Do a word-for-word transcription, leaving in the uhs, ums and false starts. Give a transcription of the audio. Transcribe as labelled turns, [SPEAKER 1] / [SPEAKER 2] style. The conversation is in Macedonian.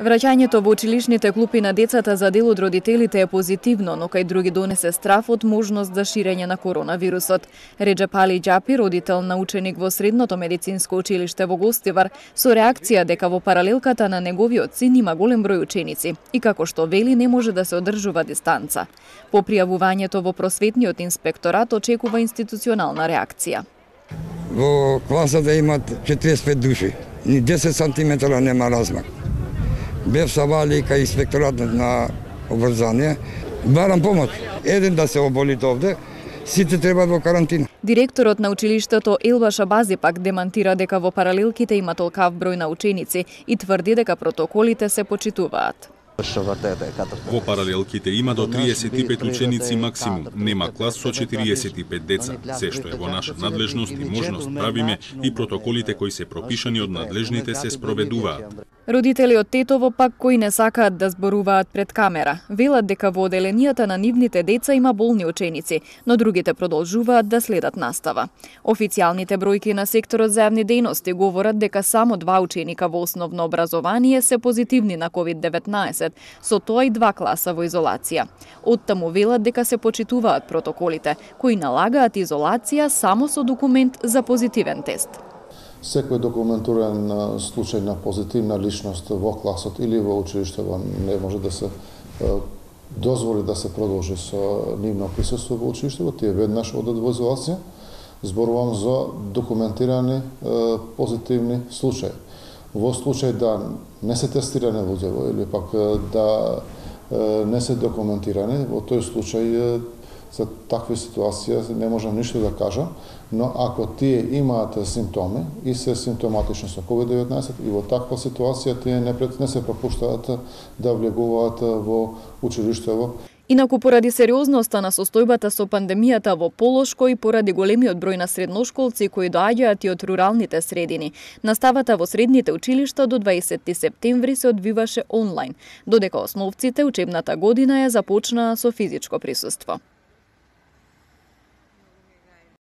[SPEAKER 1] Враќањето во училишните клупи на децата за дел од родителите е позитивно, но кај други донесе страф од можност за ширење на коронавирусот. Реджеп Али Џапи, родител на ученик во Средното медицинско училиште во Гостивар, со реакција дека во паралелката на неговиот син има голем број ученици и како што вели не може да се одржува дистанца. По пријавувањето во просветниот инспекторат очекува институционална реакција.
[SPEAKER 2] Во класата имат четириесет и пет души, ни десет сантиметра нема размак. Бев савали кај инспекторатот на обрзание. Барам помош. Еден да се оболите овде, сите треба во карантина.
[SPEAKER 1] Директорот на училиштето Елба Шабази пак демантира дека во паралелките има толкав број на ученици и тврди дека протоколите се почитуваат.
[SPEAKER 3] Во паралелките има до триесет и пет ученици максимум. Нема клас со четириесет и пет деца. Се што е во наша надлежност и можност правиме и протоколите кои се пропишани од надлежните се спроведуваат.
[SPEAKER 1] Родители од Тетово пак кои не сакаат да зборуваат пред камера, велат дека во оделенијата на нивните деца има болни ученици, но другите продолжуваат да следат настава. Официјалните бројки на секторот за јавни дејности говорат дека само два ученика во основно образование се позитивни на ковид деветнаесет, со тоа и два класа во изолација. Оттаму велат дека се почитуваат протоколите, кои налагаат изолација само со документ за позитивен тест.
[SPEAKER 4] Секој документиран случај на позитивна личност во класот или во училиштето не може да се дозволи да се продолжи со нивно присуство во училиштето, тие веднаш одат во изолација. Зборувам за документирани позитивни случаи. Во случај да не се тестирани луѓе или пак да не се документирани, во тој случај за такви ситуации не можам ништо да кажам, но ако тие имаат симптоми и се симптоматични со ковид деветнаесет и во таква ситуација тие не, не се пропуштаат да влегуваат во училиштево.
[SPEAKER 1] Инаку поради сериозноста на состојбата со пандемијата во Полошко и поради големиот број на средношколци кои доаѓаат и од руралните средини, наставата во средните училишта до дваесетти септември се одвиваше онлайн, додека основците учебната година ја започнаа со физичко присуство.